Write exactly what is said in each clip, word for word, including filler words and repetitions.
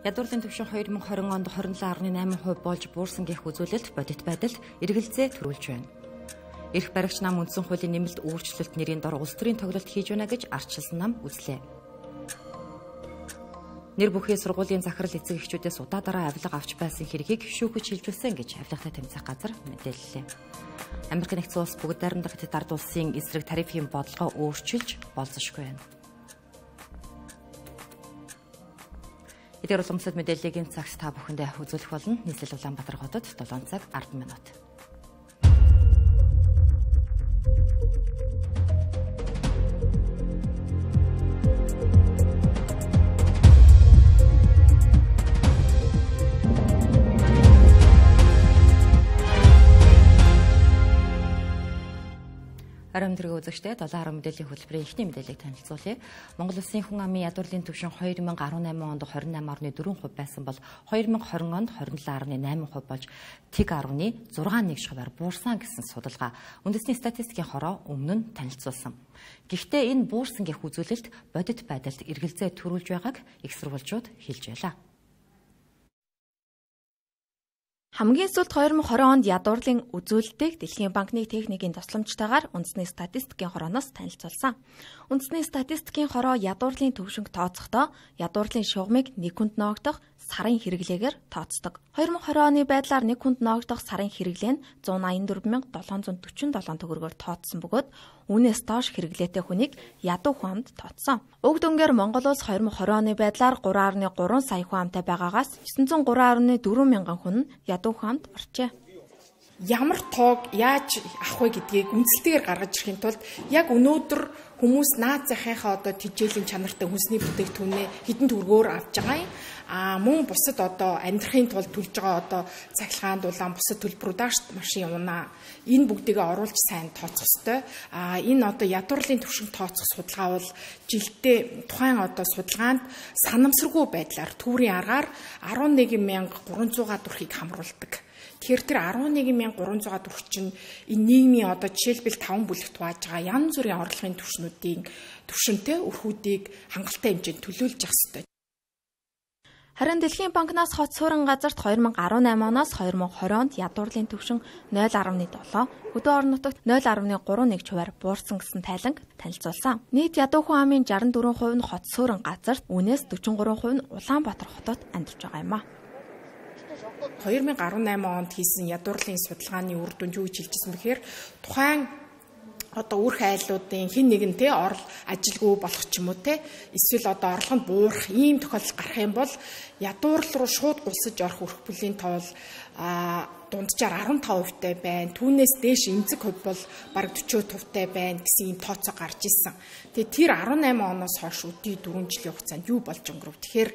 Ядуурлын түвшин хоёр мың и двадцать онд двадцать сет гаруй найман хувь болж буурсан гэх үзүүлэлт бодит байдалд эргэлзээ төрүүлж байна. Эрх баригч нам үндсэн хуулийн нэмэлт өөрчлөлт нэрийн дор улс төрийн тоглолт хийж байна гэж ардчилсан нам үзлээ. Нэр бүхий сургуулийн захирал эцэг эхчүүдээс удаадараа авилга авч байсан хэргийг шүүхэж шилжүүлсэн гэж авилгатай тэмцэх газар мэдээллээ. Америк нэгдсэн улс бүгд найрамдах Хятад ард улсын эсрэг тарифын бодлогоо өөрчилж болзошгүй байна. Эдгээр уламжлалт мэдээллийг энэ цагт та бүхэндээ үзүүлэх болно. Нийслэл Улаанбаатар хотод долоон цаг арван минут. Арам тэрэг үзэгчтэй долоо арга мэдээллийн хөтөлбөрийн эхний мэдээллийг танилцуулъя. Монгол Улсын хүн амын ядуурлын түвшин хоёр мың и дөрвөн онд двадцать восемь гаруй четыре хувь байсан бол хоёр мың и двадцать онд двадцать сет гаруй найман хувь болж тэг гаруй зургаан нэг шаваар буурсан гэсэн судалгаа үндэсний статистикийн хороо өмнө нь танилцуулсан. Гэхдээ энэ буурсан гэх үзүүлэлт бодит байдалд эргэлзээ төрүүлж байгааг их сурвалжууд хэлж байлаа. Хамгийн сүүлд хоёр мың и двадцать онд ядуурлын үзүүлэлтийг Дэлхийн банкны техникийн тусламжтайгаар үндэсний статистикийн хорооноос танилцуулсан. Үндэсний статистикийн хороо ядуурлын төвшинг тооцохдоо ядуурлын шугамыг нэг хүнд ноогдох сарын хэрэглээгээр тооцдог. хоёр мың и двадцать оны байдлаар нэг хүнд ноогдох сарын хэрэглээ нь one eighty-four thousand seven hundred forty-seven төгрөгөөр тооцсон бөгөөд үүнээс доош хэрэглээтэй хүнийг ядуу хүн амд тооцсон. Уг дүнгээр Монгол улс хоёр мың и двадцать оны байдлаар three point three сая хүн амтай байгаагаас nine hundred three point four мянган хүн нь ядуу хүн амд орчээ. Ямар тоог яаж авах вэ гэдгийг үндсэлтэйгээр гаргаж ирэхин тулд яг өнөөдөр хүмүүс наад захийнхаа одоо тэжээлийн чанартай хүнсний бүтээгдэхүүнээ хэдэн төгрөгөөр авч байгаа юм. А мөн бусад одоо амьдрахын тулд төлж байгаа одоо цахилгаан дулаан бусад төлбөрүүдээс машин унаа энэ бүгдийг оруулж сайн тооцох ёстой. А энэ одоо ядуурлын түвшинг тооцох судалгаа бол жилдээ тухайн одоо судалгаанд санамсаргүй байдлаар түүрийн аргаар eleven thousand three hundred дүрхийг хамруулдаг. Тэгэхээр тэр eleven thousand three hundred дүрх чинь энэ нийгмийн одоо жишээлбэл таван бүлэгт хувааж байгаа янз бүрийн орлогын түвшнүүдийн түвшинтэй өрхүүдийг хангалттай хэмжээнд төлөөлж явах ёстой. Харин Дэлхийн банкнаас хот суурин газарт two thousand eighteen оноос two thousand twenty онд ядуурлын түвшин zero point seven, хөдөө орон нутагт zero point three one хувиар буурсан гэсэн тайланг танилцуулсан. Нийт ядуу хүн амын sixty-four percent нь хот суурин газарт, үүнээс forty-three percent нь Улаанбаатар хотод амьдарч байгаа юм а. two thousand eighteen онд хийсэн ядуурлын судалгааны үр дүн юу гэж хэлжсэн бэхээр тухайн одоо үүрх айлуудын хэн нэгэн те орол ажилгүй болох ч юм уу те эсвэл одоо орлогонд буурах ийм тохиолдол гарах юм бол ядуурл руу шууд гулсаж орох өрх бүлийн тоол а дунджаар fifteen percent тай байна. Түүнээс дээш эмзэг хувь бол бараг forty percent тай байна гэсэн ийм тооцоо гарч ирсэн. Тэгээ тэр eighteen оноос хойш өдий four жилийн хугацаанд юу болж өнгөрөв. Тэгэхээр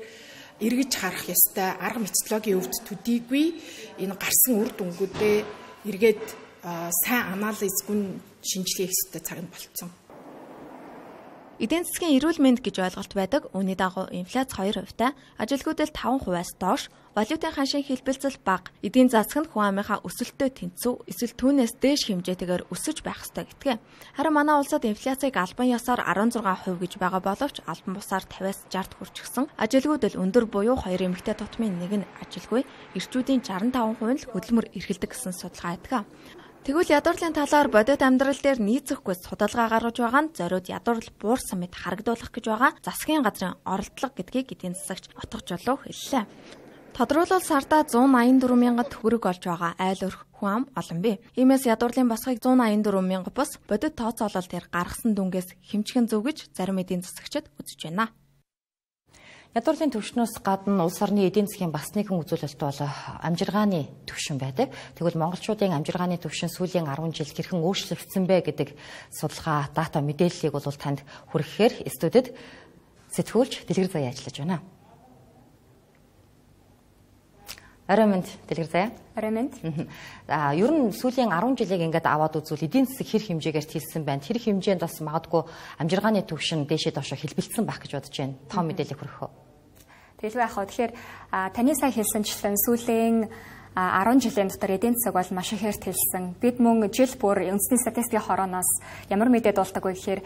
эргэж харах ёстой арга методологийн өвд төдийгүй энэ гарсан үр дүнгуудээ эргээд сайн анализ гүн шинжилгээ хийх ёстой цаг нь болцсон. Эдийн засгийн эрүүл мэнд гэж ойлголт байдаг. Үүний дагуу инфляц two percent, ажилгүйдэл five percent-аас доош, валютын ханшийн хэлбэлцэл бага, эдийн засаг нь хүн амынхаа өсөлтөд тэнцүү, эсвэл түүнээс дээш хэмжээтэйгээр өсөж байх ёстой гэдгээ. Харин манай улсад инфляцийг албан ёсоор sixteen percent гэж байгаа боловч албан бусаар fifty-аас sixty хүрчихсэн. Ажилгүйдэл өндөр буюу хоёр эмэгтэй тутмын нэг нь ажилгүй, эрчүүдийн sixty-five percent л хөдөлмөр эрхэлдэг гэсэн судалгаа байдаг. Тэгвэл ядуурлын талаар бодит амьдрал дээр нийцэхгүй судалгаа гаргаж байгаа нь зориуд ядуурл буурсан мэт харагдуулах гэж байгаа засгийн газрын оролдлого гэдгийг эдийн засагч Отго Жолоо хэллээ. Тодруулбал сардаа one eighty-four мянган төгрөг олж байгаа айл өрх хүн ам олон бий. Иймээс ядуурлын босхийг one eighty-four мянга бус бодит тооцоолол дээр гаргасан дүнгээс хэмжигэн зөв гэж зарим эдийн засагчид үзэж байна. Ядуурлын түвшнөөс гадна улс орны эдийн засгийн бас нэгэн үзүүлэлт бол амжиргааны түвшин байдаг. Тэгвэл монголчуудын амжиргааны түвшин сүүлийн ten жил хэрхэн өөрчлөгдсөн бэ гэдэг судалгаа дата мэдээллийг бол танд хүргэхээр студид сэтгүүлч Дэлгэр Заяа ажиллаж байна. Арай мэнд Дэлгэр Заяа. Арай мэнд. Аа ер нь сүүлийн ten жилийг ингээд аваад үзвэл эдийн засаг хэр хэмжээгээр хэлсэн байна. Тэр хэмжээнд бас магадгүй амжиргааны түвшин дээшээ доошоо хэлбэлцсэн байх гэж бодож байна. Том мэдээлэл хүргэх үү? Тэгэл байх уу. Тэгэхээр таны сая хэлсэнчлэн сүүлийн ten жилийн дотор эдийн засаг бол маш их хэрт хэлсэн. Бид мөн жил бүр үндэсний статистикийн хорооноос ямар мэдээд болдог вэ гэхээр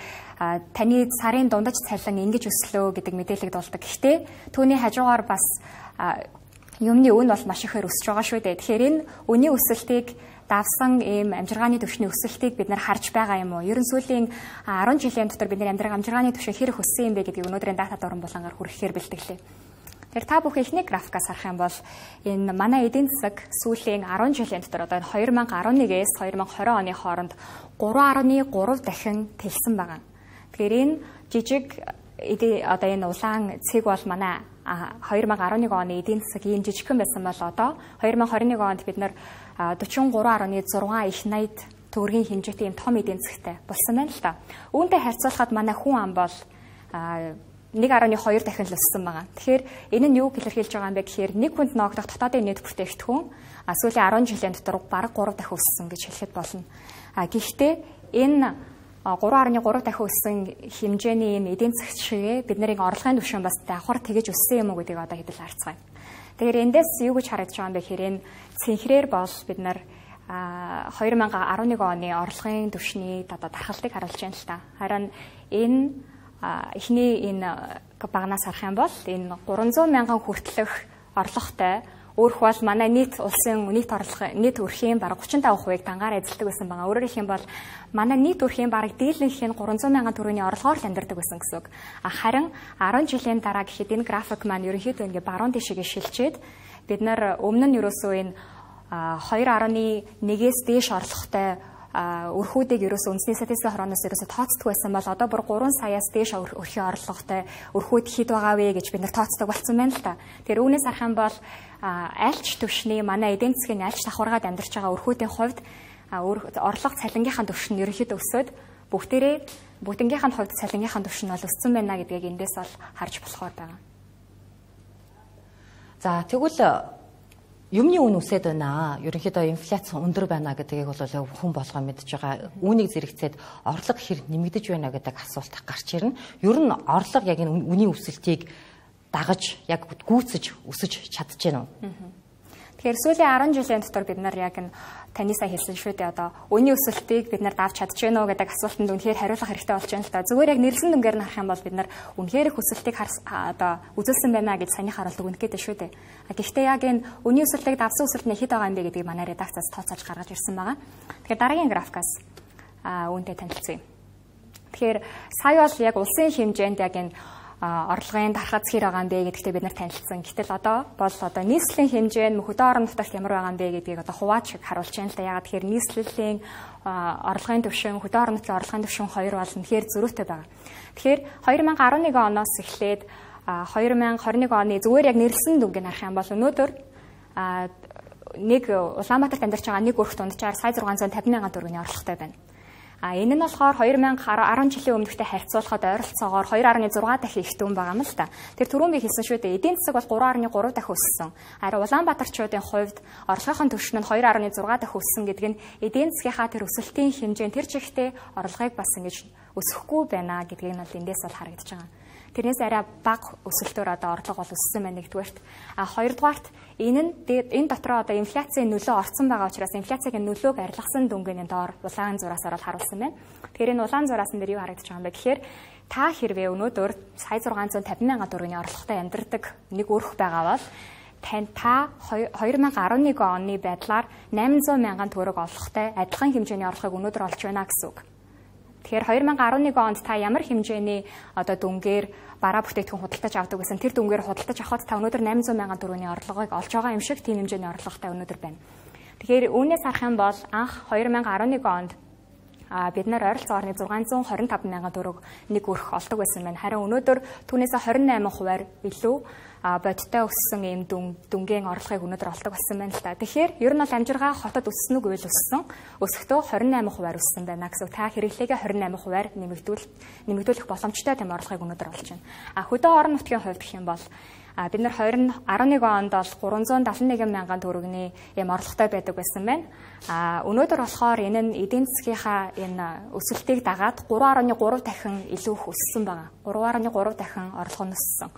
таны сарын дундаж цалин ингэж өслөө гэдэг мэдээлэлд болдог. Гэхдээ түүний хажуугаар бас юмны үн бол маш ихээр өсөж байгаа шүү дээ. Тэгэхээр энэ үнийн өсөлтийг давсан ийм амжиргааны түвшний өсөлтийг бид нар харж байгаа юм уу? Ер нь сүүлийн арван жилийн дотор бид нар амьдрах амжиргааны түвшин хэрэг өссөн юм бэ гэдгийг өнөөдрийн дата дуран булангаар хүргэхээр бэлтгэлээ. Тэгэхээр та бүхэн ихний графикаас харах юм бол энэ манай эдийн засаг сүүлийн арван жилийн дотор одоо хоёр мянга арван нэгээс хоёр мянга хорин оны хооронд гурван гаруй гурав дахин тэлсэн байгаа. Тэгэхээр энэ жижиг одоо энэ улаан цэг бол манай хоёр мянга арван нэг оны эдийн засаг ийм жижигхэн байсан бол одоо хоёр мянга хорин нэг онд бид нар дөрвөн гурван гаруй зургаан их найд төгрөгийн хэмжээтэй ийм том эдийн засагтай болсон байна л та. Үүнтэй харьцуулахад манай хүн ам бол нэг гаруй хоёр дахин л өссөн байгаа. Тэгэхээр энэ нь юу илэрхийлж байгаа юм бэ гэхээр нэг хүнд ноогдох дотоодын нийт бүтээгдэхүүн сүүлийн арван жилийн дотор бараг гурав дахин өссөн гэж хэлэхэд болно. Гэхдээ энэ гурван гаруй гурав дахин өссөн хэмжээний ийм эдийн засаг шигээ бидний орлогын түвшин бас давхар тэгэж өссөн юм уу гэдгийг одоо хэдэл харцгаая. Тэгэхээр эндээс юу гэж харагдаж байгаа юм бэ гэхээр энэ цэнхрээр бол бид нар хоёр мянга арван нэг оны орлогын түвшний одоо тархалтыг харуулж байна л та. Харин энэ эхний энэ багнаас харах юм бол энэ гурван зуун мянган хүртэлх орлоготой өөрөх бол манай нийт улсын нийт орлого нийт өрхийн бараг гучин таван хувийг дангаар эзэлдэг байсан байгаа. Өөрөөр хэлэх юм бол манай нийт өрхийн бараг дийлэнх нь гурван зуун мянган төгрөгийн орлогоор л амьдардаг байсан гэсэн үг. Харин арван жилийн дараа гэхэд энэ график маань ерөнхийдөө ингээ баруун тишгээ шилжээд бид нар өмнө нь ерөөсөө энэ хоёр гаруй нэгээс дээш орлоготой өрхүүдийг ерөөсөө үндэсний статистикийн хорооноос ерөөсөө тооцдог байсан бол одоо бүр гурван саяас дээш өрхийн орлоготой өрхүүд хэд байгаа вэ гэж бид нар тооцдог болсон байна л та. Тэгэхээр үүнээс харах юм бол альч түвшний манай эдийн засгийн альч давхаргаад амьдарч байгаа өрхүүдийн хувьд орлого цалингийнхаа түвшин нь ерөнхийдөө өсөөд бүгдээрээ бүгднгийнхаа хувьд цалингийнхаа түвшин бол өссөн байна гэдгийг эндээс бол харж болохоор байгаа. За тэгвэл юмны үн үсээд байна. Ерөнхийдөө инфляц өндөр байна гэдгийг бол хүн болгоо мэдж байгаа. Үүнийг зэрэгцээд орлого хэр нэмэгдэж байна гэдэг асуулт гарч ирнэ. Ер нь орлого яг энэ үнийн өсөлтийг дагаж яг гүйцэж өсөж чадж байна уу? Тэгэхээр сүүлийн арван жилийн дотор бид нар яг энэ таны сая хэлсэн шүү дээ одоо үнийн өсөлтийг бид нар давж чадж байна уу гэдэг асуултанд үнэхээр хариулах хэрэгтэй болж байна л та. Зүгээр яг нэрлсэн дүнгээр нь харах юм бол бид нар үнэхээр их өсөлтийг одоо үзүүлсэн байна гэж саяны харуулт өгнө гэдэг шүү дээ. Гэхдээ яг энэ үнийн өсөлтийг давсан өсөлт нь хэд байгаа юм бэ гэдгийг манай редакцаас тооцоолж гаргаж ирсэн байгаа. Тэгэхээр дараагийн графикаас үүнтэй танилцъя. Тэгэхээр сая бол яг улсын хэмжээнд яг энэ орлогын дархаз хэр байгаа юм бэ гэдэгтээ бид нар танилцсан. Гэтэл одоо бол одоо нийслэлийн хэмжээ нь хөдөө орон нутагт ямар байгаа юм бэ гэдгийг одоо хувааж харуулж байна л да. Ягаад тэгэхээр нийслэлийн орлогын түвшин хөдөө орон нутгийн орлогын түвшин хоёр бол үнэхээр зөрүүтэй байгаа. Тэгэхээр хоёр мянга арван нэг оноос эхлээд хоёр мянга хорин нэг оны зүгээр яг нэрлсэн дүнгийг харах юм бол өнөөдөр нэг Улаанбаатарт амьдарч байгаа нэг өрх дунджаар сая зургаан зуун тавин мянган төгрөгийн орлоготой байна. А энэ нь болохоор хоёр мянга арван жилийн өмнөхтэй харьцуулахад ойролцоогоор хоёр гаруй зургаан дахин ихтэй хүн байгаа юм л та. Тэр түрүүн би хэлсэн шүү дээ. Эдийн засаг бол гурван гаруй гурав дахин өссөн. Харин Улаанбаатарчуудын хувьд орлогын түвшин нь хоёр гаруй зургаан дахин өссөн гэдэг нь эдийн засгийнхаа тэр өсөлтийн хэмжээ тэр чигтээ орлогыг бас ингэж өсөхгүй байна гэдгийг нь бол эндээс бол харагдаж байгаа. Тэрнээс арай бага өсөлтөөр одоо орлого бол өссөн байна нэгдүгээрт. А хоёрдугаарт энэ нь энэ дотроо одоо инфляцийн нөлөө орсон байгаа учраас инфляцийн нөлөөг арилгасан дүнгийн доор улаан зураасаар бол харуулсан байна. Тэгэхээр энэ улаан зураас нь дээр юу харагдаж байгаа юм бэ гэхээр та хэрвээ өнөөдөр сая зургаан зуун тавин мянган төгрөгийн орлоготой амьдардаг нэг өрх байгаа бол тань та хоёр мянга арван нэг оны байдлаар найман зуун мянган төгрөг орлоготой адилхан хэмжээний орлогыг өнөөдөр олж байна гэсэн үг. Тэгэхээр хоёр мянга арван нэг онд та ямар хэмжээний одоо дүнгээр бараа бүтээгдэхүүн худалдаж авдаг гэсэн тэр дүнгээр худалдаж авахд та өнөөдөр найман зуун мянган төгрөгийн орлогыг олж байгаа юм шиг тийм хэмжээний орлоготой өнөөдөр байна. Тэгэхээр үүнээс харах юм бол анх хоёр мянга арван нэг онд а бид нар ойролцоогоор зургаан зуун хорин таван мянган төгрөг нэг өрх олдог байсан байна. Харин өнөөдөр түүнээс хорин найман хувиар илүү бодиттой өссөн ийм дүнгийн орлогыг өнөөдөр олдог болсон байна л та. Тэгэхээр ер нь бол амжиргаа хотод өссөн үг үйл өссөн. Өсөхдөө хорин найман хувиар өссөн байна гэсэн. Та хэрэглээгээ хорин найман хувиар нэмэгдүүл нэмэгдүүлэх боломжтой тийм орлогыг өнөөдөр олж байна. А хөдөө орон нутгийн хувьд гэх юм бол бид нар хоёр мянга арван нэг онд бол гурван зуун дадлан нэгэн мянган төгрөгийн ийм орлоготой байдаг байсан байна. А өнөөдөр болохоор энэ нь эдийн засгийнхаа энэ өсөлтийг дагаад гурван гаруй гурав дахин илүү их өссөн байгаа. гурван гаруй гурав дахин орлого нь өссөн.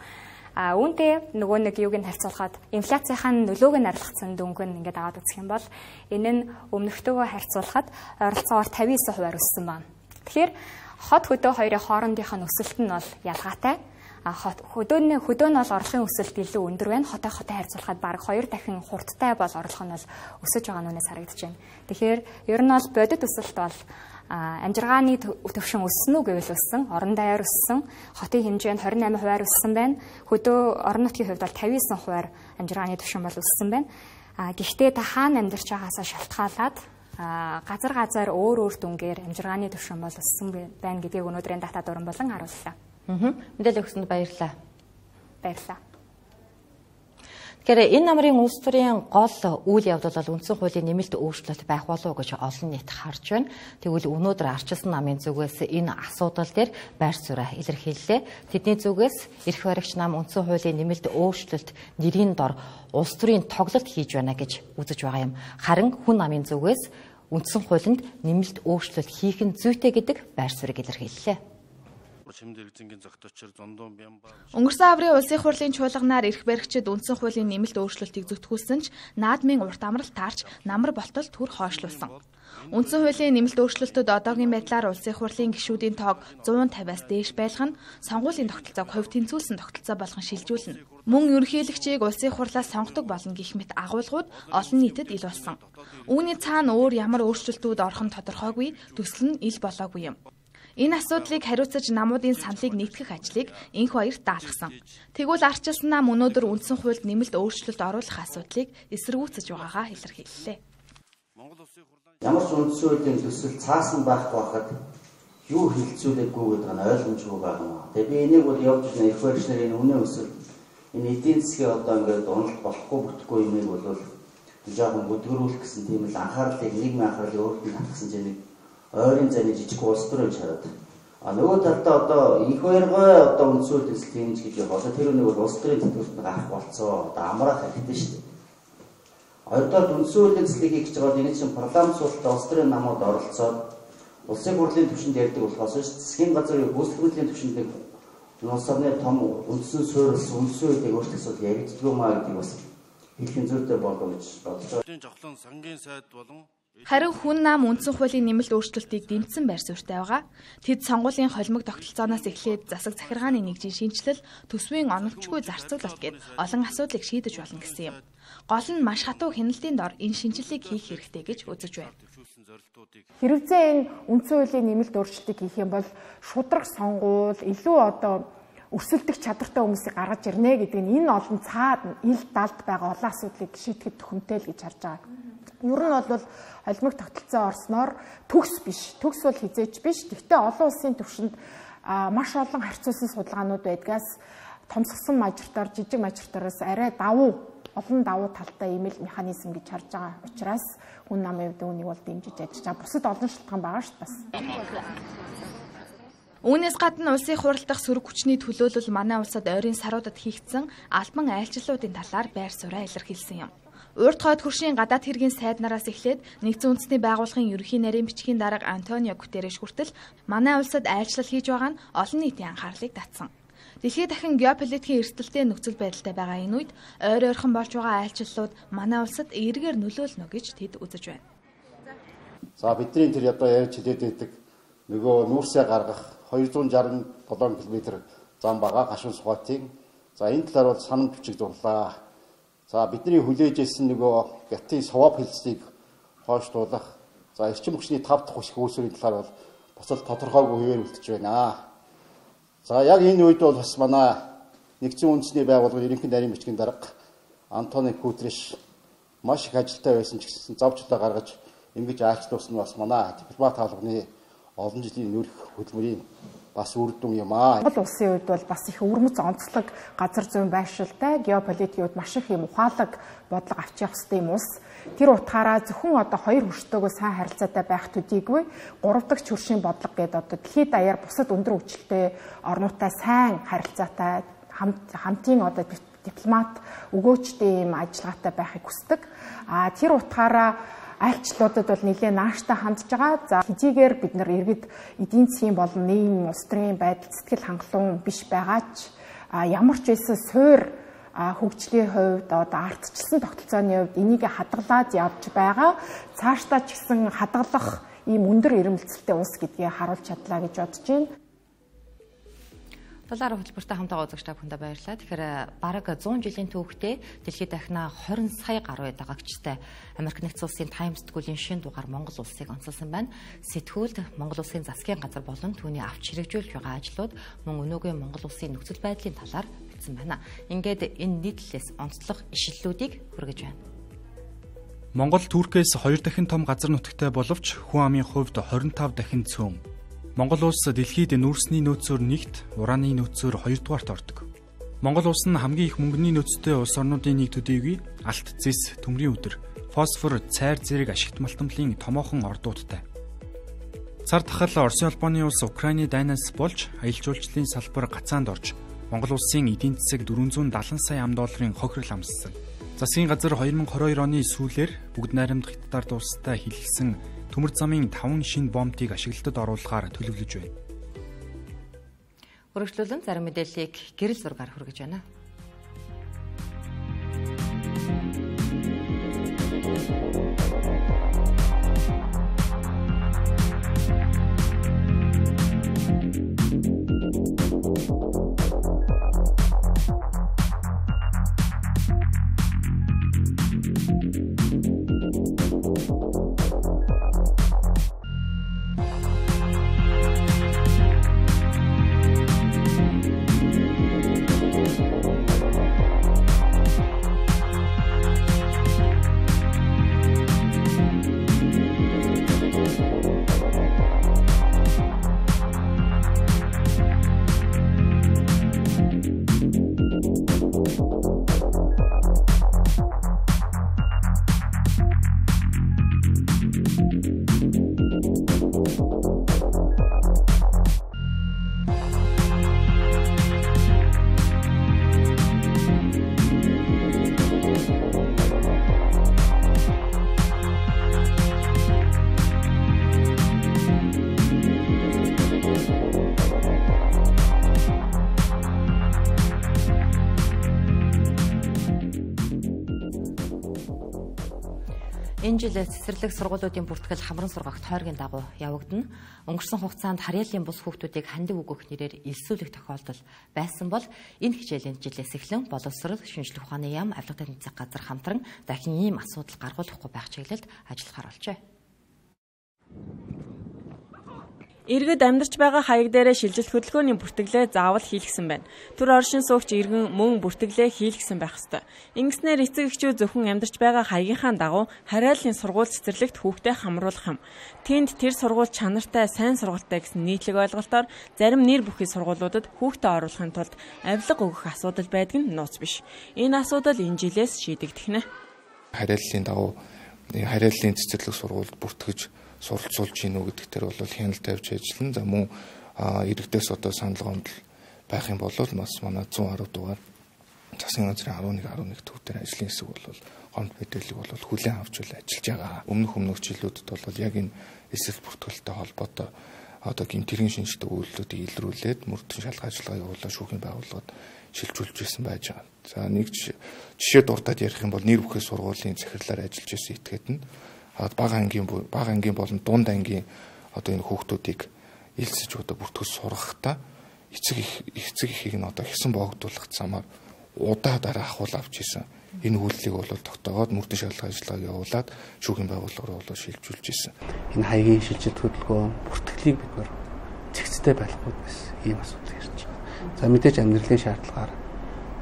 А үүнтэй нөгөө нэг юуг нь харьцуулахад инфляцийнхаа нөлөөг нь арилгацсан дүнг нь ингээд аваад үзэх юм бол энэ нь өмнөхтэйгөө харьцуулахад ойролцоогоор тавин девять хувиар өссөн байна. Тэгэхээр хот хөдөө хоёрын хоорондынх нь өсөлт нь бол ялгаатай. А хөдөөний хөдөө нь бол орлогын өсөлт илүү өндөр байна. Хотоо хотоо харьцуулахад бараг хоёр дахин хурдтай бол орлого нь бол өсөж байгаа нүнээс харагдаж байна. Тэгэхээр ер нь бол бодит өсөлт бол амжиргааны төвшин өссөн үү гэвэл өссөн, орон даяар өссөн, хотын хэмжээнд двадцать восемь хувиар өссөн байна. Хөдөө орон нутгийн хувьд бол пятьдесят девять хувиар амжиргааны төвшин бол өссөн байна. А гэхдээ та хаана амьдарч байгаасаа шалтгаалаад газар газар өөр өөр дүнгээр амжиргааны төвшин бол өссөн байна гэдгийг өнөөдрийн дата дуран болон харууллаа. Аа. Мэдээлэл өгсөнд баярлалаа. Баярлалаа. Тэгэхээр энэ намрын улс төрийн гол үйл явдал бол үндсэн хуулийн нэмэлт өөрчлөлт байх болов уу гэж олон нийт харж байна. Тэгвэл өнөөдөр арчилсан намын зүгээс энэ асуудал дээр байр сууриа илэрхийллээ. Тэдний зүгээс эрх баригч нам үндсэн хуулийн нэмэлт өөрчлөлт нэрийн дор улс төрийн тоглолт хийж байна гэж үзэж байгаа юм. Харин хүн намын зүгээс үндсэн хуулинд нэмэлт өөрчлөлт хийх нь зүйтэй гэдэг байр суурийг илэрхийллээ. Өнгөрсөн аврын улсын хурлын чуулганаар эрх баригчид үндсэн хуулийн нэмэлт өөрчлөлтийг зөвтгүүлсэн ч наадмын урт амралт таарч намар болтол түр хойшлуулсан. Үндсэн хуулийн нэмэлт өөрчлөлтөд одоогийн байдлаар улсын хурлын гишүүдийн тоог one fifty-аас дээш байлгах нь сонгуулийн тогтолцоог хувь тэнцвүүлсэн тогтолцоо болгон шилжүүлнэ. Мөн ерөнхийлөгчийг улсын хурлаас сонгодог болно гэх мэт агуулгууд олон нийтэд ил болсон. Үүний цаана өөр ямар өөрчлөлтүүд орох нь тодорхойгүй, төсөл нь ил болоогүй юм. Энэ асуудлыг хариуцаж намуудын саналыг нэгтгэх ажлыг энх баярт даалгасан. Тэгвэл арчилсан нам өнөөдөр үндсэн хуульд нэмэлт өөрчлөлт оруулах асуудлыг эсэргүүцэж байгаагаа илэрхийллээ. Ямар ч үндсэн хуулийн төсөл цаасан байхгүй байхад юу хилцүүлээгүй гэдэг нь ойлгомжгүй байна. Тэгээ би энийг бол явж ирсэн эрх баригч нарын үнэ өсөл энэ эдийн засгийн одоо ингээд уналт болохгүй бүтггүй юмыг бол жоохон бүдгэрүүлэх гэсэн тийм л анхаарлыг нийгмийн анхаарлыг өөрт нь татсан чинь ойрын зайны жижиг улс төрөж хараад а нөгөө талдаа одоо их баяргой одоо үндсүүл төсөл хийнэ гэж бодоод тэр үнийг бол улс төрийн тэтгүүрт гарах болцоо одоо амраах хэрэгтэй шүү дээ. Хоёрдугаар үндсүүл төслийг хийж байгаа энэ чинь парламент суултаа улс төрийн намууд оролцоод улсын хурлын түвшинд ярьдаг болохоос засгийн газрын гүйцэтгэлийн түвшинд улс орны том үндсэн суурилсан үндсэн үеийг өөрчлөх асуудал яригддаг маа гэдэг бас хэлхэн зүйтэй болов гэж бодож байгаа. Жавхлан сангийн сайд болон Харин хүн нам үндсэн хуулийн нэмэлт өөрчлөлтийг дэмжсэн байр суурьтай байгаа. Тэд сонгуулийн холимог тогтолцооноос эхлээд засаг захиргааны нэгжийн шинжилэл, төсвийн оновчгүй зарцуулалт гэд олон асуудлыг шийдэж болно гэсэн юм. Гол нь маш хатуу хяналтын дор энэ шинжилгээг хийх хэрэгтэй гэж үзэж байна. Хэрвээ энэ үндсэн хуулийн нэмэлт өөрчлөлтийг хийх юм бол шудраг сонгуул, илүү одоо өрсөлдөх чадвартай хүмүүсийг гаргаж ирнэ гэдэг нь энэ олон цаад ил далд байгаа олон асуудлыг шийдэхэд төхөмтэй л гэж харж байгаа. Ер нь бол холимог тогтолцоо орсноор төгс биш. Төгс бол хизээч биш. Гэхдээ олон улсын түвшинд маш олон харьцуулсан судалгаанууд байдгаас томсгсон мажартаар, жижиг мажартаараас арай давуу, олон давуу талтай ийм л механизм гэж харж байгаа учраас хүн намын хувьд үүнийг бол дэмжиж ажиллаж байгаа. Бусад олон шалтгаан байгаа шүү дээ бас. Үүнээс гадна улсын хурал дахь сөрөг хүчний төлөөлөл манай улсад ойрын саруудад хийгдсэн албан айлчлалуудын талаар байр сууриа илэрхийлсэн юм. Урт хойд хөршийн гадаад хэргийн сайднараас эхлээд нэгдсэн үндэсний байгууллагын ерөнхий нарийн бичгийн дарга Антонио Гутерреш хүртэл манай улсад айлчлал хийж байгаа нь олон нийтийн анхаарлыг татсан. Дэлхийд дахин геополитикийн эрсдэлтэй нөхцөл байдалтай байгаа энэ үед ойр ойрхон болж байгаа айлчлалууд манай улсад эргээр нөлөөлнө гэж тэд үзэж байна. За бидний тэр одоо ярьж хэлээд байдаг нөгөө нүүрсээ гаргах two hundred sixty-seven км зам байгаа гашуун сухатын. За энэ талаар бол санамж бичиг дурлаа. За бидний хүлээж ирсэн нөгөө гятын совоп хэлцгийг хойшлуулах. За эрчим хүчний тав дахь хүч үүсвэрийн талаар бол бас л тодорхойгүй хэвээр үлдэж байна. За яг энэ үед бол бас манай нэгдсэн үндэсний байгууллагын ерөнхий нарийн бичгийн дарга Антонио Гутерреш маш их ажилтай байсан ч гэсэн завчлаа гаргаж ингэж айлчлуулсан нь бас манай дипломат хаалганы олон жилийн нөрх хөдөлмөрийн бас үр дүн юм аа. Монгол улсын үед бол бас их өвөрмөц онцлог газар зүйн байршилтай геополитикийн үед маш их юм ухаалаг бодлого авч явах хэрэгтэй юм улс. Тэр утгаараа зөвхөн одоо хоёр хөрштөөгөө сайн харилцаатай байх төдийгүй гурав дахь хөршийн бодлого гэдэг одоо дэлхийд даяар бусад өндөр хүчтэй орнуудтай сайн харилцаатай хамтын одоо дипломат өгөөчтэй юм ажиллагаатай байхыг хүсдэг. А тэр утгаараа айлчлуудад бол нэлээд нааштай хандж байгаа. За хэдийгээр бид нар иргэд эдийн засгийн болон нийгмийн улс төрийн байдал сэтгэл хангалуун биш байгаач ямар ч байсан суур хөгжлийн хувьд одоо ардчилсан тогтолцооны хувьд энийг хадгалаад явж байгаа. Цаашдаа ч гэсэн хадгалах ийм өндөр ирэмэлцэлтэй улс гэдгийг харуулж чадлаа гэж бодож байна. Долларын хөтөлбөртэй хамтаа уулзагч та бүхэндээ баярлалаа. Тэгэхээр бараг зуун жилийн түүхтэй дэлхийд дахина хорин сая гаруй дагагчтай Америк нэгдсэн улсын Times сэтгүүлийн шинэ дугаар Монгол улсыг онцолсон байна. Сэтгүүлд Монгол улсын засгийн газар болон түүний авч хэрэгжүүлж байгаа ажлууд мөн өнөөгийн Монгол улсын нөхцөл байдлын талаар бичсэн байна. Ингээд энэ нийтлэлээс онцлог ишлэлүүдийг хүргэж байна. Монгол Туркээс хоёр дахин том газар нутагтай боловч хүн амын хувьд хорин тав дахин цөөн. Монгол улс дэлхийд нүүрсний нөөцөөр нэгт, урааны нөөцөөр хоёрдугаарт ордог. Монгол улс нь хамгийн их мөнгөний нөөцтэй улс орнуудын нэг төдийгүй алт зэс, төмрийн өдөр, фосфор, цайр зэрэг ашигт малтамлын томоохон ордуудтай. Цар тахал Оросын улбооны улс Украины дайнаас болж аялал жуулчлалын салбар гацаанд орж Монгол улсын эдийн засаг дөрвөн зуун даатан сая ам долларын хохирол амссан. Засгийн газар хоёр мың и хоёр оны сүүлээр бүгд найрамдах хятадаар дуустай хилэлсэн төмөр замын таван шинэ бомбыг ашиглалтад оруулахаар төлөвлөж байна. Өргөжлүүлэн зарим мэдээллийг гэрэл зургаар хүргэж байна. Энэ жил цэцэрлэг сургуулиудын бүртгэл хамран сургагч тойргийн дагуу явагдана. Өнгөрсөн хугацаанд харьяалын бус хүүхдүүдийг хандив өгөх нэрээр элсүүлэх тохиолдол байсан бол энэ хичээлийн жилээс эхлэн боловсрол, шинжлэх ухааны яам, авилга тань засаг газар хамтран дахин ийм асуудал гаргуулахгүй байх чиглэлд ажиллахаар болжээ. Иргэд амьдарч байгаа хаяг дээрээ шилжилт хөдөлгөөний бүртгэлээ заавал хийлгсэн байна. Түр оршин суугч иргэн мөн бүртгэлээ хийлгсэн байх ёстой. Ингэснээр эцэг эхчүүд зөвхөн амьдарч байгаа хаягийнхаа дагуу харьяаллын сургууль цэцэрлэгт хүүхдээ хамруулах юм. Тэнд тэр сургууль чанартай, сайн сургуультай гэсэн нийтлэг ойлголтоор зарим нэр бүхий сургуулиудад хүүхдээ оруулахын тулд авилга өгөх асуудал байдаг нь нууц биш. Энэ асуудал энэ жилээс шийдэгдэх нэ. Харьяаллын дагуу харьяаллын цэцэрлэг сургуульд бүртгэж суралцуулж гинүү гэдэг дээр бол хяналт тавьж ажиллана. За мөн иргэдээс одоо санал гомдол байх юм бол бас манай зуун гаруй дугаар засгийн газрын арван нэг арван нэг төв дээр ажлын хэсэг бол гомд мэдээлэл бол хүлээн авч ажиллаж байгаа. Өмнөх өмнөх жилүүдэд бол яг энэ эсрэг бүртгэлтэй холбоотой одоо гэмтэрийн шинжтэй үйлдэлүүдийг илрүүлээд мөрдөн шалгах ажиллагаа явуулаад шүүхийн байгууллагад шилжүүлж ирсэн байж байгаа. За нэг жишээ дуртад ярих юм бол нэр бүхий сургуулийн захирлаар ажиллаж ирсэн этгээд нь бага ангийн бага ангийн болон дунд ангийн одоо энэ хүүхдүүдийг элсэж одоо бүртгэж сургахтаа эцэг их эцэг ихийг нь одоо хэсэн боогдуулах замаар удаа дараа ахуул авч исэн. Энэ үйлдэлийг бол тогтоогоод мөрдөн шалгах ажиллагааг явуулаад шүүхийн байгууллагаар бол шилжүүлж исэн. Энэ хаягийн шилжилт хөдөлгөөн бүртгэлийг бид нар зэгцтэй байхгүй гэсэн ийм асуудал ирж байна. За мэдээж амьдралын шаардлагаар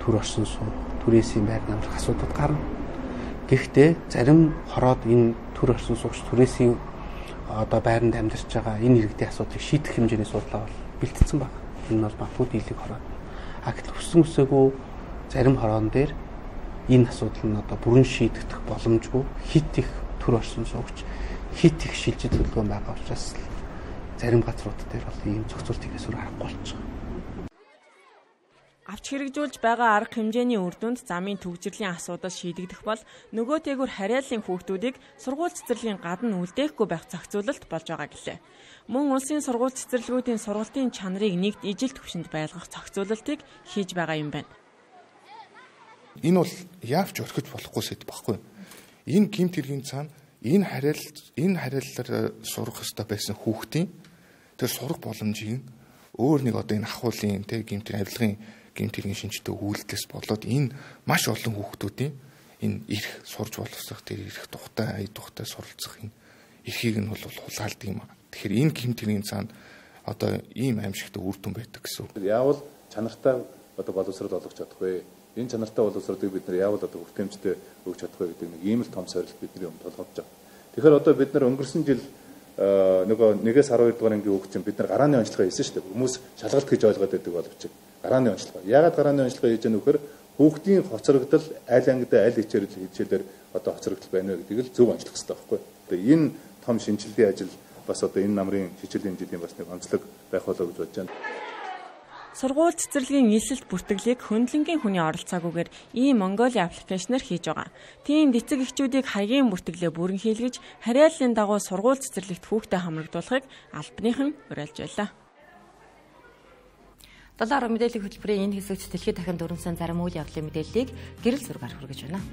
төр орсон суу, түрээсийн байр намрах асуудал гарна. Гэхдээ зарим хороод энэ төр орсон суугч түрээсийн одоо байранд амьдарч байгаа энэ иргэдийн асуудлыг шийдэх хэмжээний судалгаа бол бэлтгэсэн байна. Энэ бол магадгүй дийлэг хороод. А гэтэл хүссэн үсээгүй зарим хороон дээр энэ асуудал нь одоо бүрэн шийдэгдэх боломжгүй хит их төр орсон суугч хит их шилжилт хөдөлгөөн байгаа учраас зарим газрууд дээр бол ийм зохицуулт хийхээс өөр аргагүй болчихсон. Авч хэрэгжүүлж байгаа арга хэмжээний үр дүнд замын төгжрлийн асуудал шийдэгдэх бол нөгөөтэйгүр харьяаллын хүүхдүүдийг сургууль цэцэрлэгийн гадна үлдээхгүй байх зохицуулалт болж байгаа гэлээ. Мөн улсын сургууль цэцэрлэгүүдийн сургалтын чанарыг нэгд ижил түвшинд байлгах зохицуулалтыг хийж байгаа юм байна. Энэ бол яавч орхиж болохгүй сэдв байхгүй. Энэ гэмт хэргийн цаана энэ харьяал энэ харьяалаар сурах ёстой байсан хүүхдийн тэр сурах боломжийг өөр нэг одоо энэ ахуулын тэ гэмтэн авилгын гэмтэргийн шинжтэй үйлдэлээс болоод энэ маш олон хүүхдүүдийн энэ эрх сурж боловсрох тэр эрх тухтай, ая тухтай суралцах энэ эрхийг нь бол хулгайлдаг юм. Тэгэхээр энэ гэмтэргийн цаана одоо ийм аимшигтай үр дүн байдаг гэсэн үг. Яавал чанартай одоо боловсрол олгож чадах вэ? Энэ чанартай боловсролыг бид нар яавал одоо хүртээмжтэй өгч чадах вэ гэдэг нэг ийм л том сорилт бидний өмнө толгойж байгаа. Тэгэхээр одоо бид нар өнгөрсөн жил нөгөө нэгээс арван хоёр дугаар ангийн хүүхд чинь бид нар гарааны онцлогоо хийсэн шүү дээ. Хүмүүс шалгалт гэж ойлгоод байдаг боловч гарааны онцлогоо. Яагаад гарааны онцлогоо хийж яах вэ? Хүүхдийн хоцрогдол аль ангид аль хичээлэл хичээлээр одоо хоцрогдол байна вэ гэдгийг л зөв онцлох хэрэгтэй байхгүй. Тэгээ энэ том шинжилгээ ажил бас одоо энэ намрын хичээлийн жилийн бас нэг онцлог байх болоо гэж бодож байна. Сургууль цэцэрлэгийн нийслэл бүртгэлийг хөндлөнгийн хүний оролцоогүйгээр ийм Mongolia аппликейшнээр хийж байгаа. Тийм эцэг эхчүүдийг хаягийн бүртгэлээ бүрэн хийлгэж, хариаллын дагуу сургууль цэцэрлэгт хүүхдэд хамрагдуулахыг албаныхан уриалж байлаа. Доллар мэдээллийн хөтөлбөрийн энэ хэсэгт дэлхийд дахин дөрвөн зарим үйл явдлын мэдээллийг гэрэл зургаар хүргэж байна.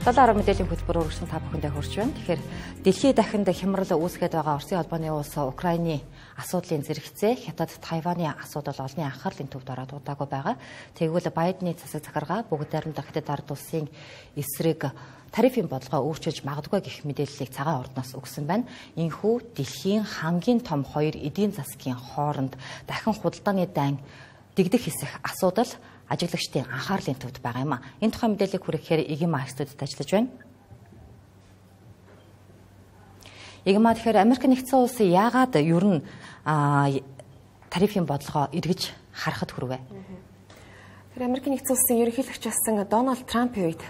Доллар мэдээллийн хөтөлбөр өргөсөн та бүхэндээ хүрч байна. Тэгэхээр дэлхийд дахинд хямрал үүсгээд байгаа Оросын холбооны улс Украины асуудлын зэрэгцээ Хятад Тайваны асуудал олонний анхаарлын төвд ороод удаагүй байгаа. Тэгвэл Байдны засаг захиргаа бүгд найрамдах Хятад ард улсын эсрэг тарифын бодлогоо өөрчилж магадгүй гэх мэдээллийг цагаан ордноос өгсөн байна. Энэхүү дэлхийн хамгийн том хоёр эдийн засгийн хооронд дахин худалдааны дайн дэгдэх хэсэх асуудал ажиглагчдын анхаарлын төвд байгаа юм а. Энэ тухай мэдээллийг хүргэхээр Игма студид ажиллаж байна. Игма, тэгэхээр Америк нэгдсэн улсын яагаад ер нь тарифын бодлогоо эргэж харахад хүрвэ? Тэгэхээр Америк нэгдсэн улсын ерөнхийлөгч болсон Дональд Трампын үед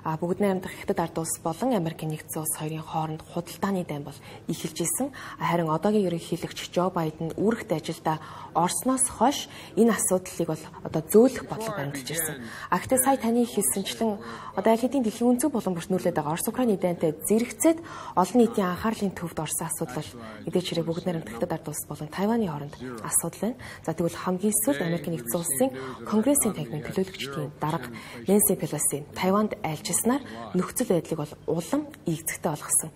бүгд найрамдах Хятад ард улс болон Америк нэгдсэн улс хоёрын хооронд худалдааны дайн бол ихэлж исэн. Харин одоогийн ерөнхийлөгч Жо Байден үүрэгт ажилдаа орсноос хойш энэ асуудлыг бол одоо зөөлөх бодлого баримталж ирсэн. А гэхдээ сая таны хэлсэнчлэн одоо аль хэдийн дэлхийн өнцөг болон бүртнүүлээд байгаа Орос Украины дайнтай зэрэгцээд олон нийтийн анхаарлын төвд орсон асуудал мэдээж хэрэг бүгд найрамдах Хятад ард улс болон Тайваны хооронд асуудал байна. За тэгвэл хамгийн сүүлд Америк нэгдсэн улсын Конгрессийн танхимын төлөөлөгчдийн дарга Нэнси Пелоси Тайванд айлчилснаар нөхцөл байдлыг бол улам ийгцэгтэй болгосон.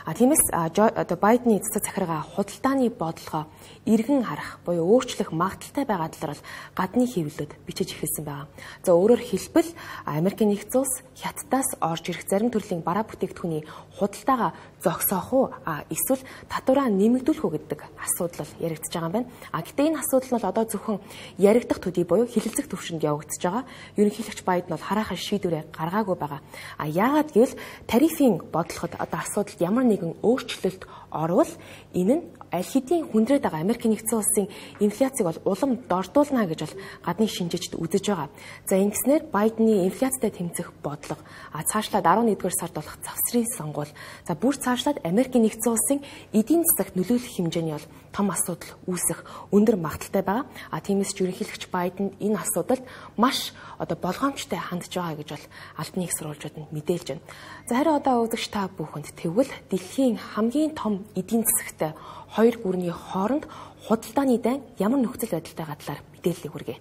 А тиймээс одоо Байдны цэцэг захиргаа худалдааны бодлогоо иргэн харах буюу өөрчлөх магадaltaй байгаа талаар бол гадны хэвлэлд бичиж эхэлсэн байгаа. За өөрөөр хэлбэл Америк нэгдсэн улс Хятадаас орж ирэх зарим төрлийн бараа бүтээгдэхүүний худалдаагаа зогсоох уу эсвэл татвараа нэмэгдүүлэх үү гэдэг асуудал бол яригдчихэж байгаа юм байна. А гэтээ энэ асуудал нь бол одоо зөвхөн яригдах төдий буюу хилэлцэх төвшөнд явагдаж байгаа. Ерөнхийлөгч Байден бол хараахан шийдвэрээ гаргаагүй байгаа. А яагаад гэвэл тарифын бодлогод одоо асуудалд ямар нэгэн өөрчлөлт орвол энэ нь аль хэдийн хүндрээд байгаа Америк нэгдсэн улсын инфляцийг бол улам дордуулна гэж бол гадны шинжээчд үзэж байгаа. За ингэснээр Байдны инфляцтай тэмцэх бодлого а цаашлаад арван нэгдүгээр сард болох завсрын сонгуул за бүр цаашлаад Америк нэгдсэн улсын эдийн засагт нөлөөлөх хэмжээний бол том асуудал үүсэх өндөр магадaltaй байгаа. А тиймээс ерөнхийлөгч Байден энэ асуудалд маш одоо болгоомжтой хандж байгаа гэж бол албаны их сурвалжууд нь мэдээлж байна. За харин одоо үзэгч та бүхэнд тэгвэл дэлхийн хамгийн том эдийн засагтай хоёр гүрний хооронд худалдааны дайн ямар нөхцөл байдалтайгаа талаар мэдээлэл хүргэе.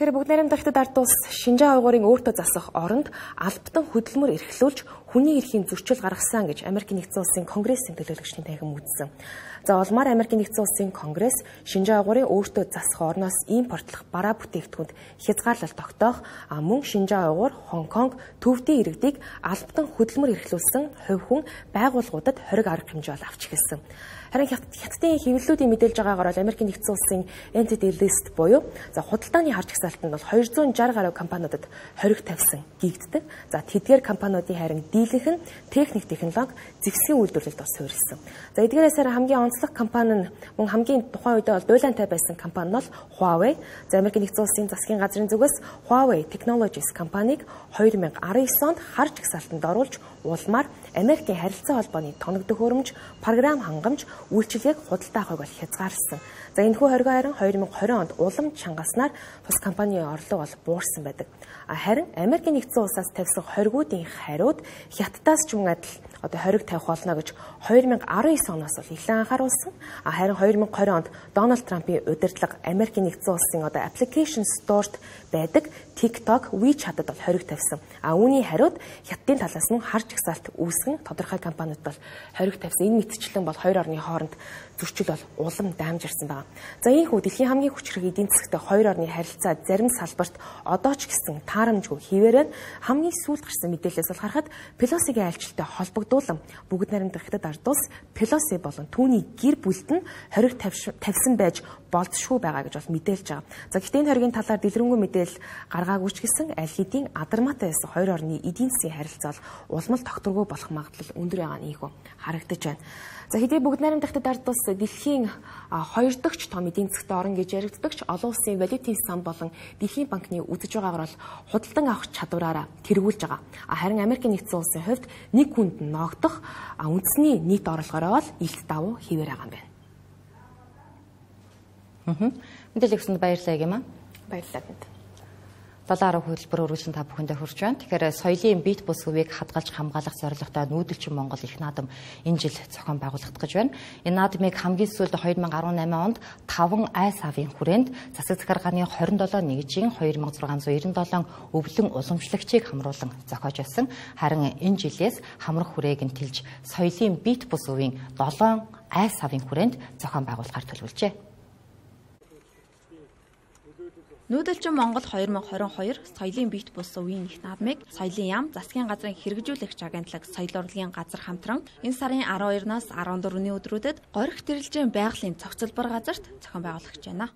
Тэгэхээр бүгд найрамдах хятад ард улс Шинжаа уйгурын өөртөө засах оронд албатан хөдөлмөр эрхлүүлж хүний эрхийн зөрчил гаргасан гэж Америкийн нэгдсэн улсын Конгрессийн төлөөлөгчдийн танхим үзсэн. За улмаар Америкийн нэгдсэн улсын Конгресс Шинжаа уйгурын өөртөө засах орноос импортлох бараа бүтээгдэхүүнд хязгаарлалт тогтоох, мөн Шинжаа уйгур, Хонконг, Төвдийн иргэдийг албатан хөдөлмөр эрхлүүлсэн хувь хүн байгууллагуудад хориг арга хэмжээ бол авч эхэлсэн. Харин хятадын хэвлэлүүдийн мэдээлж байгаагаар бол Америкийн нэгдсэн улсын Entity List буюу за худалдааны харж хсаалтанд бол хоёр зуун шарх гаруй компаниудад хориг тавьсан гэгддэг. За тэдгээр компаниудын харин дийлэнх нь техник технологи зэгсгийн үйлдвэрлэлд бас суурилсан. За эдгээрээс хамгийн онцлог компани нь мөн хамгийн тухайн үедээ бол дуйлантай байсан компани нь бол Huawei. За Америкийн нэгдсэн улсын засгийн газрын зүгээс Huawei Technologies компанийг хоёр мянга арын девять онд харж хсаалтанд оруулж улмаар Америкийн харилцаа холбооны тоног төхөөрөмж, програм хангамж, үйлчилгээг худалдаа авахыг бол хязгаарласан. За энэхүү хоригоо харин хоёр мянга двадцать онд улам чангаснаар бас компанийн орлого бол буурсан байдаг. Харин Америкийн нэгдсэн улсаас тавьсан хоригуудын хариуд Хятадаас ч мөн адил одоо хориг тавих болно гэж хоёр мянга десять оноос бол ихлэн анхааруулсан. Харин хоёр мянга двадцать онд Дональд Трампын удирдлага Америкийн нэгдсэн улсын одоо application store-т байдаг TikTok, WeChat-д бол хориг тавьсан. А үүний хариуд Хятадын талаас нь харж хсаалт үүсгэн тодорхой компаниуд бол хориг тавьсан. Энэ мэтчлэн бол хоёр орны хооронд зөрчил бол улам даамжирсан байна. За ийхүү дэлхийн хамгийн хүчрэг эдийн засагтай хоёр орны харилцаа зарим салбарт одоо ч гэсэн таарамжгүй хിവэрэн хамгийн сүүлд гарсан мэдээлэлээс бол харахад Пелосигийн айлчлалтай холбогдуулан бүгд найрамдах хятад ард улс Пелоси болон түүний гэр бүлд нь хориг тавьсан байж болзошгүй байгаа гэж бол мэдээлж байгаа. За гэхдээ энэ хоригийн талаар дэлгэрэнгүй мэдээлэл гаргаагүй ч гэсэн аль хэдийн адармаатай байсан хоёр орны эдийн засгийн харилцаа бол улмал тогтворгүй болох магадлал өндөр байгаа нь ийхүү харагдаж байна. За хэдий бүгд найрамдах хятад ард улс дэлхийн хоёр дахь том эдийн засгт орн гэж яригддаг ч олон улсын валютын сан болон дэлхийн банкны үзэж байгаагаар бол худалдан авах чадвараараа тэргүүлж байгаа. Харин Америкийн нэгдсэн улсын хувьд нэг хүнд ногдох үндэсний нийт орлогоороо бол илт давуу хിവэр байгаа юм байна. Мм. Мэдээлэл өгсөнд баярлалаа гэмээ. Баярлалаа. долларын хөтөлбөр өргөжлөн та бүхэндээ хүрч байна. Тэгэхээр соёлын бит бус хөвийг хадгалж хамгаалах зорилготой нүүдэлчин Монгол их наадам энэ жил зохион байгуулагдах гэж байна. Энэ наадмыг хамгийн сүүлд хоёр мянга дөрвөн онд таван ай савын хүрээнд засаг захиргааны хорин долоо нэгжийн хоёр мянга зургаан зуун девять долоо өвлөн уламжлагчийг хамруулан зохиож байсан. Харин энэ жилээс хамрах хүрээг нь тэлж соёлын бит бус хөвийн долоон ай савын хүрээнд зохион байгуулахаар төлөвлөжээ. Нүүдэлчин Монгол хоёр мянга двадцать хоёр соёлын бит бус үеийн их наадмыг соёлын яам засгийн газрын хэрэгжүүлэгч агентлаг соёл урлагийн газар хамтран энэ сарын арван хоёроноос арван дөрөвний өдрүүдэд Горих тэрэлжийн байгалийн цогцлбор газарт зохион байгуулагч байна.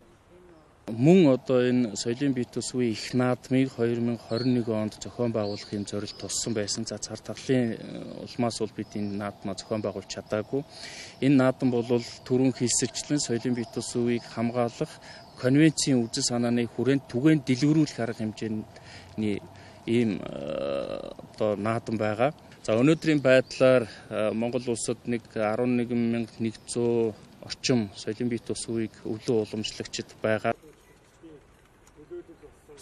Мөн одоо энэ соёлын бит бус үеийн их наадмыг хоёр мянга двадцать нэг онд зохион байгуулахын зорилт туссан байсан. За цар тахлын улмаас бол бид энэ наадмаа зохион байгуулж чадаагүй. Энэ наадам бол түрүүн хэлсэлчлэн соёлын бит бус үеийг хамгаалах конвенцийн үзэл санааны хүрээнд түгээн дэлгэрүүлэх арга хэмжээний ийм одоо наадам байгаа. За өнөөдрийн байдлаар Монгол улсад нэг арван нэг мянга нэгдсэн орчим соёлын бит бус үеийг өвлөн уламжлагчид байгаа.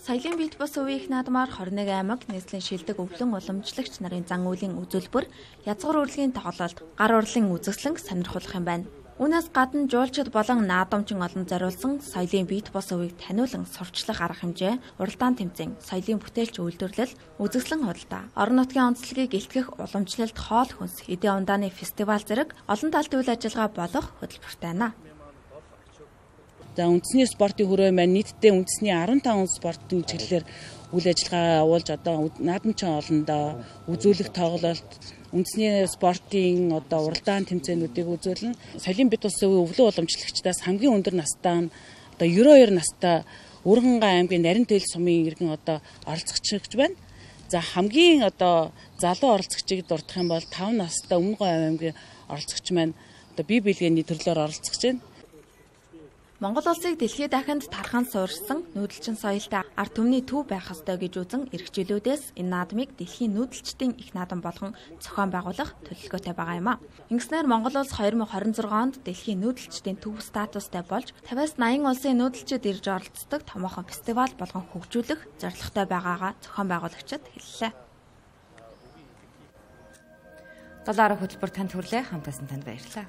Соёлын бит бус үеийн их наадмаар двадцать нэг аймаг нийслэлийн шилдэг өвлөн уламжлагч нарын зан үйлийн үзүүлбэр, язгуур урлагийн тоглолт, гар урлын үзэсгэлэн сонирхолтой юм байна. Үүнээс гадна жуулчид болон наадамчин олон зориулсан соёлын бит бус үеийг таниулан сурчлах арга хэмжээ, уралдаан тэмцээн, соёлын бүтээлч үйлдвэрлэл, үзэсгэлэн худалдаа, орон нутгийн онцлогийг илтгэх уламжлалт, хоол хүнс, эдийн ундааны фестивал зэрэг олон талт үйл ажиллагаа болох хөтөлбөртэй байна. За үндэсний спортын хүрээ маань нийтдээ үндэсний арван таван спортын чиглэлээр үйл ажиллагаа явуулж одоо наадамчин олондоо үзүүлэх тоглолт үндэсний спортын одоо уралдаан тэмцээнүүдийг үзүүлнэ. Соёлын бит бус үеийн өвлөн уламжлагчдаас хамгийн өндөр настай одоо девяносто two настай Өргөнгай аймгийн Нарийн Тэл сумын иргэн одоо оролцогч байна. За хамгийн одоо залуу оролцогчийг дурдах юм бол five настай Өмнө Говь аймгийн оролцогч маань одоо бие биелгээний төрлөөр оролцож байна. Монгол улсыг дэлхийд дахинд тархан суурьсан нүүдэлчин соёлтой ард түмний төв байх ёстой гэж үзэн эрхчлүүдээс энэ наадмыг дэлхийн нүүдэлчдийн их наадам болгон зохион байгуулах төлөвлөгөөтэй байгаа юм а. Ингэснээр Монгол улс two thousand twenty-six онд дэлхийн нүүдэлчдийн төв статустай болж fifty-аас eighty улсын нүүдэлчид ирж оролцдог томоохон фестивал болгон хөгжүүлэх зорилготой байгаагаа зохион байгуулагчид хэллээ. Долларын хөтөлбөр танд хүрлээ. Хамтаасан танд баярлалаа.